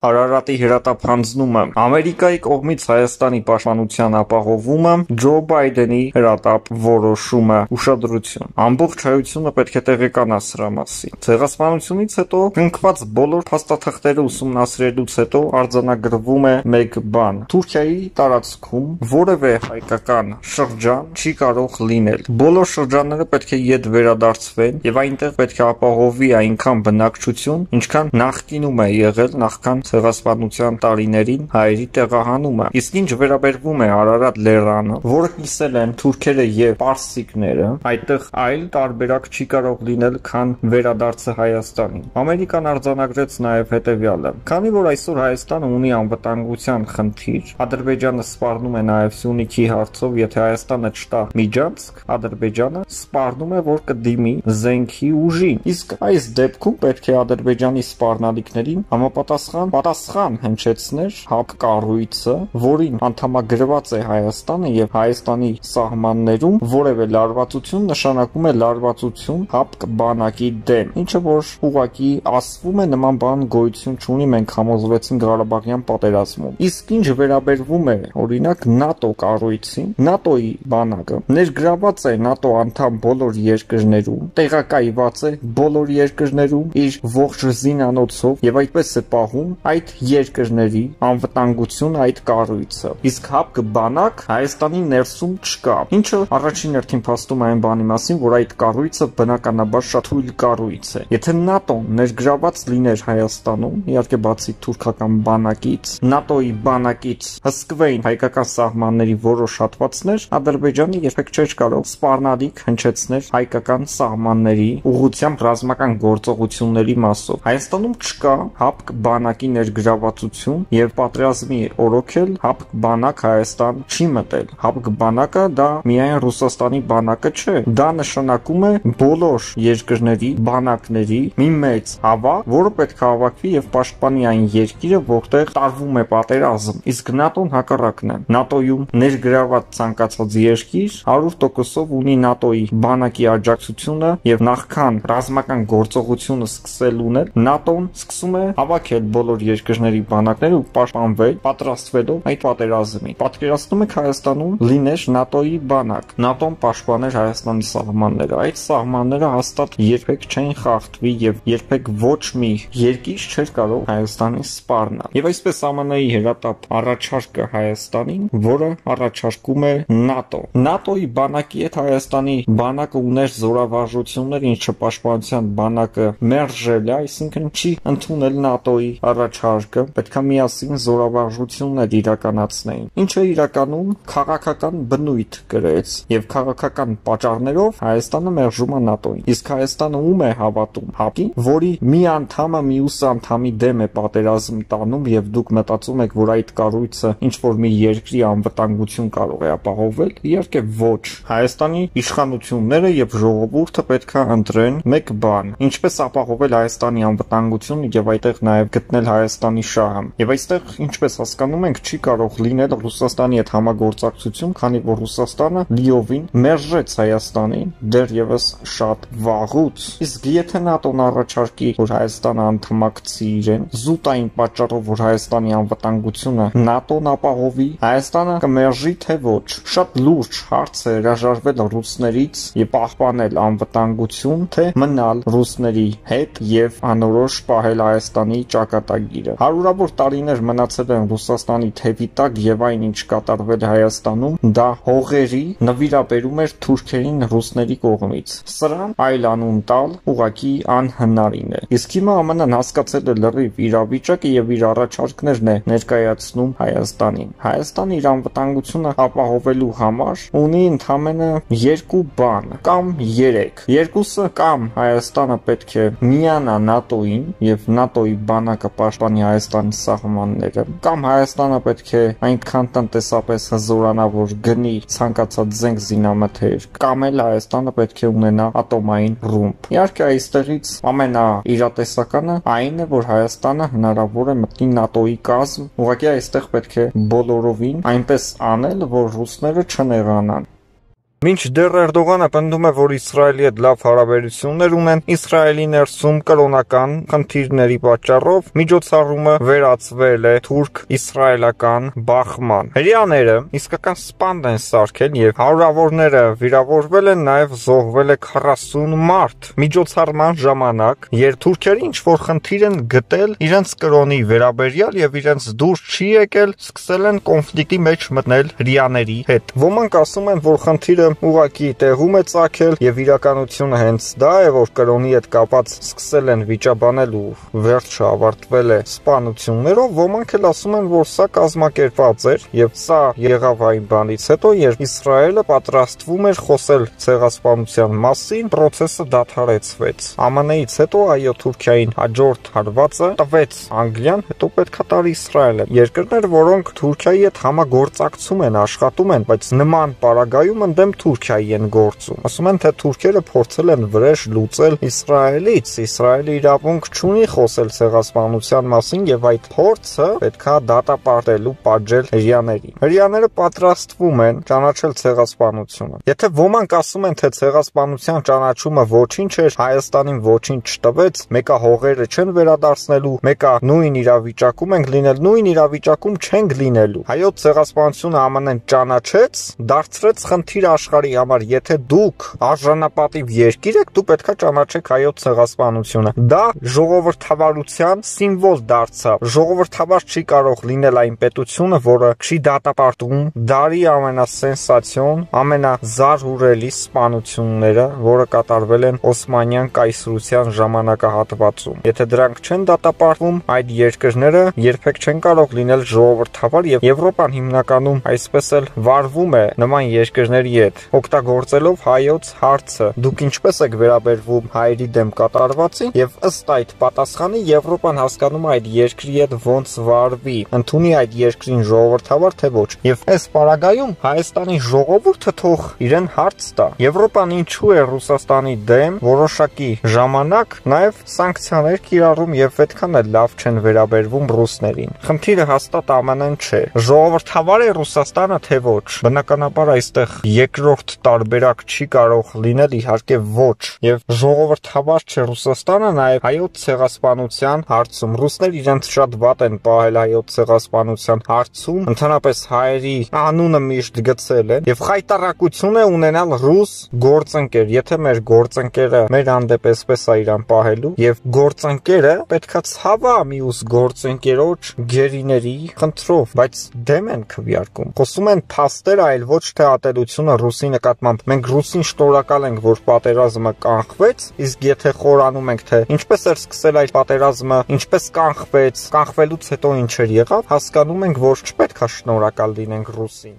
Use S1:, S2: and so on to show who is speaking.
S1: Արարատի հրատապ-հանձնումը, Ամերիկայի կողմից Հայաստանի պաշտպանության ապահովումը, Ջո Բայդենի հրատապ որոշումը, ուշադրություն։ Ամբողջ հայությունը պետք է տեղեկանա սրա մասին։ Ցեղասպանությունից հետո կնքված բոլոր փաստաթղթերը ուսումնասիրելուց հետո արձանագրվում է մեկ բան. Թուրքիայի տարածքում որևէ հայկական շրջան չի կարող լինել։ Բոլոր շրջանները պետք է ետ վերադարձվեն եւ այնտեղ պետք է ապահովվի այնքան բնակչություն, ինչքան նախկինում է եղել նախքան ցեղասպանության տարիներին հայերի տեղահանումը։ Իսկ ինչ վերաբերվում է Արարատ լեռանը, որը կիսել են թուրքերը եւ պարսիկները, այդտեղ այլ տարբերակ չի կարող լինել, քան վերադարձը Հայաստանին։ Ամերիկան արձանագրեց նաեւ հետեւյալը. քանի որ այսօր Հայաստանը ունի անվտանգության խնդիր, Ադրբեջանը սպառնում է նաեւ Սյունիքի հարցով, եթե Հայաստանը չտա միջանցք, Ադրբեջանը սպառնում է, որ կդիմի զենքի ուժին։ Իսկ այս դեպքում պետք է Ադրբեջանի սպառնալիքներին պատասխան հնչեցներ ՀԱՊԿ կառույցը, որին անդամագրված է Հայաստանը եւ Հայաստանի սահմաններում որևէ լարվածություն նշանակում է լարվածություն ՀԱՊԿ բանակի դեմ, ինչը որ ուղղակի ասվում է նման բան գոյություն չունի, մենք համոզվեցինք Ղարաբաղյան պատերազմում։ Իսկ ինչ վերաբերվում է օրինակ ՆԱՏՕ կառույցին, ՆԱՏՕ-ի բանակը ներգրաված է ՆԱՏՕ անդամ բոլոր երկրներում, տեղակայված է բոլոր երկրներում իր ողջ զինանոցով եւ այդպես է պահում այդ երկրների անվտանգություն այդ կառույցը։ Իսկ ՀԱՊԿ բանակ Հայաստանի ներսում չկա, ինչը առաջին հերթին փաստում է այն բանի մասին, որ այդ կառույցը բնականաբար շատ թույլ կառույց է։ Եթե ՆԱՏՕ-ն ներգրաված լիներ Հայաստանում, իհարկե բացի թուրքական բանակից, ՆԱՏՕ-ի բանակից հսկվեին հայկական սահմանների որոշ հատվածներ, Ադրբեջանը երբեք չէր կարող սպառնալիք հնչեցնել հայկական սահմանների ուղղությամբ ռազմական գործողությունների մասով։ Հայաստանում չկա ՀԱՊԿ բանակի ներգրավվածություն եւ պատերազմի օրոքել ՀԱՊԿ բանակ Հայաստան չի մտել։ ՀԱՊԿ բանակը դա միայն Ռուսաստանի բանակը չէ, դա նշանակում է բոլոր երկրների բանակների մի մեծ հավաք, որը պետք է հավաքվի եւ պաշտպանի այն երկիրը, որտեղ տարվում է պատերազմ։ Իսկ ՆԱՏՕ-ն հակառակն է։ ՆԱՏՕ-ում ներգրաված ցանկացած երկիր 100%-ով ունի ՆԱՏՕ-ի բանակի աջակցությունը եւ նախքան ռազմական գործողությունը սկսելուն էլ ՆԱՏՕ-ն սկսում է հավաքել բոլոր երկրների բանակները ու պաշտպանվել, պատրաստվելով այդ պատերազմին։ Պատկերացնում եք Հայաստանում լիներ ՆԱՏՕ-ի բանակ, ՆԱՏՕ-ն պաշտպաներ Հայաստանի սահմանները, այդ սահմանները հաստատ երբեք չեն խախտվի եւ երբեք ոչ մի երկիր չէր կարող Հայաստանին սպառնալ։ Եվ այսպես ԱՄՆ-ի հրատապ առաջարկը Հայաստանին, որը առաջարկում է ՆԱՏՕ։ ՆԱՏՕ-ի բանակի հետ Հայաստանի բանակը ուներ զորավարժություններ, ինչը պաշտպանության բանակը մերժել է, այսինքն չի ընդունել ՆԱՏՕ-ի առաջարկը, պետք է միասին զորավարժություններ իրականացնեին, ինչը իրականում քաղաքական բնույթ կրեց եւ քաղաքական պատճառներով Հայաստանը մերժում է ՆԱՏՕ-ին։ Իսկ Հայաստանը ում է հավատում, ՀԱՊԿ-ին, որի մի անդամը մյուս անդամի դեմ է պատերազմ տանում եւ դուք մտածում եք, որ այդ կառույցը ինչ որ մի երկրի անվտանգություն կարող է ապահովել, իհարկե ոչ։ Հայաստանի իշխանությունները եւ ժողովուրդը պետք է ընտրեն մեկ բան՝ ինչպես ապահովել Հայաստանի անվտանգությունը եւ այդտեղ նաեւ գտնել Հայաստանի շահը։ Եվ այստեղ, ինչպես հասկանում ենք, չի կարող լինել Ռուսաստանի հետ համագործակցություն, քանի որ Ռուսաստանը լիովին մերժեց Հայաստանին դեռևս շատ վաղուց։ Իսկ եթե ՆԱՏՕ-ն առաջարկի, որ Հայաստանը անդամակցի իրեն, զուտ այն պատճառով, որ Հայաստանի անվտանգությունը ՆԱՏՕ-ն ապահովի, Հայաստանը կմերժի թե ոչ։ Շատ լուրջ հարց է հրաժարվել ռուսներից եւ պահպանել անվտանգություն, թե մնալ ռուսների հետ եւ անորոշ պահել Հայաստանի ճակատագիրը։ Հարյուրավոր տարիներ մնացել են Ռուսաստանի թևի տակ եւ այն ինչ կատարվել Հայաստանում, դա հողերի նվիրաբերում էր թուրքերին ռուսների կողմից։ Սրան այլ անուն տալ ուղղակի անհնարին է։ Իսկ հիմա ԱՄՆ-ն հասկացել է լրիվ իրավիճակը եւ իր առաջարկներն է ներկայացնում Հայաստանին։ Հայաստանը իր անվտանգությունը ապահովելու համար ունի ընդամենը երկու բան կամ երեք։ Երկուսը կամ Հայաստանը պետք է միանա ՆԱՏՕ-ին եւ ՆԱՏՕ-ի բանակը պաշտպանի Հայաստանի սահմանները, կամ Հայաստանը պետք է այնքան տնտեսապես հզորանա, որ գնի ցանկացած զենք զինամթեր, կամ էլ Հայաստանը պետք է ունենա ատոմային ռումբ։ Իհարկե այստեղից ամենաիրատեսականը այն է, որ Հայաստանը հնարավոր է մտնի ՆԱՏՕ-ի կազմ, ուղղակի այստեղ պետք է բոլորովին այնպես անել, որ ռուսները չնեղանան։ Մինչդեռ Էրդողանը պնդում է, որ Իսրայելի հետ լավ հարաբերություններ ունեն, Իսրայելի ներսում կրոնական խնդիրների պատճառով միջոցառումը վերածվել է թուրք-իսրայելական բախման։ Հրեաները իսկական սպանդ են սարքել եւ հարյուրավորները վիրավորվել են, նաեւ զոհվել է 40 մարդ։ Միջոցառման ժամանակ, երբ թուրքերը ինչ-որ խնդիր են գտել իրենց կրոնի վերաբերյալ եւ իրենց դուրս չի եկել, սկսել են կոնֆլիկտի մեջ մտնել հրեաների հետ։ Ոմանք ասում են, որ խնդիրը ուղղակի տեղում է ծագել եւ իրականությունը հենց դա է, որ կրոնի հետ կապած սկսել են վիճաբանել ու վերջը ավարտվել է սպանություններով, ոմանք էլ ասում են, որ սա կազմակերպված էր եւ սա եղավ այն բանից հետո, երբ Իսրայելը պատրաստվում էր խոսել ցեղասպանության մասին, process-ը դադարեցվեց։ ԱՄՆ-ից հետո այո Թուրքիային հաջորդ հարվածը տվեց Անգլիան, հետո պետքա տար Իսրայելը։ Երկրներ, որոնք Թուրքիայի հետ համագործակցում են, աշխատում են, բայց նման պարագայում ընդդեմ Թուրքիայի են գործում։ Ասում են, թե թուրքերը փորձել են վրեժ լուծել Իսրայելից, Իսրայելը իրավունք չունի խոսել ցեղասպանության մասին եւ այդ փորձը պետքա դատապարտելու պատժել հրեաներին։ Հրեաները պատրաստվում են ճանաչել ցեղասպանությունը։ Եթե ոմանք ասում են, թե ցեղասպանության ճանաչումը ոչինչ էր, Հայաստանին ոչինչ չտվեց, մեկը հողերը չեն վերադարձնելու, մեկը նույն իրավիճակում ենք լինել, նույն իրավիճակում չենք լինելու։ Հայոց ցեղասպանությունը ԱՄՆ-ն ճանաչեց, դարձրեց խնդիր աշխարհի համար, եթե դուք արժանապատիվ երկիր եք, դու պետքա ճանաչեք հայոց ցեղասպանությունը։ Դա ժողովրդավարության սիմվոլ դարձավ։ Ժողովրդավար չի կարող լինել այն պետությունը, որը չի դատապարտում դարի ամենասենսացիոն, ամենազարհուրելի սպանությունները, որը կատարվել են Օսմանյան կայսրության ժամանակահատվածում։ Եթե դրանք չեն դատապարտվում, այդ երկրները երբեք չեն կարող լինել ժողովրդավար եւ Եվրոպան հիմնականում այսպես էլ վարվում է նման երկրների հետ, օգտագործելով հայոց հարցը։ Դուք ինչպես եք վերաբերվում հայերի դեմ կատարվածին եւ ըստ այդ պատասխանի Եվրոպան հասկանում է այդ երկրի հետ ոնց վարվի, ընդունի այդ երկրին ժողովրդավար թե ոչ։ Եվ այս պարագայում Հայաստանի ժողովուրդը թող իրեն հարց տա։ Եվրոպան ինչու է Ռուսաստանի դեմ որոշակի ժամանակ նաև սանկցիաներ կիրառում եւ այդքան էլ լավ չեն վերաբերվում ռուսներին։ Խնդիրը հաստատ ԱՄՆ-ն չէ։ Ժողովրդավար է Ռուսաստանը թե ոչ։ Բնականաբար այստեղ երկրորդ տարբերակ չի կարող լինել, իհարկե ոչ։ Եվ ժողովրդավար չէ Ռուսաստանը նաև հայոց ցեղասպանության հարցում։ Ռուսներ իրենց շատ վատ են պահել հայոց ցեղասպանության հարցում, ընդհանրապես հայերի անունը միշտ գցել են եւ խայտարակություն է ունենալ ռուս գործընկեր։ Եթե մեր գործընկերը մեր հանդեպ էսպես է իրան պահելու եւ գործընկերը պետքա ցավա մյուս գործընկերոջ գերիների խնդրով, բայց դեմ են քվեարկում։ Խոսում են փաստեր, այլ ոչ թե ատելությունը ռուսի նկատմամբ։ Մենք ռուսին շնորհակալ ենք, որ պատերազմը կանխվեց, իսկ եթե խորանում ենք, թե ինչպես էր սկսել այդ պատերազմը, ինչպես կանխվեց, կանխվելուց հետո ինչեր եղավ, հասկանում ենք, որ չպետք է շնորհակալ լինենք ռուսին։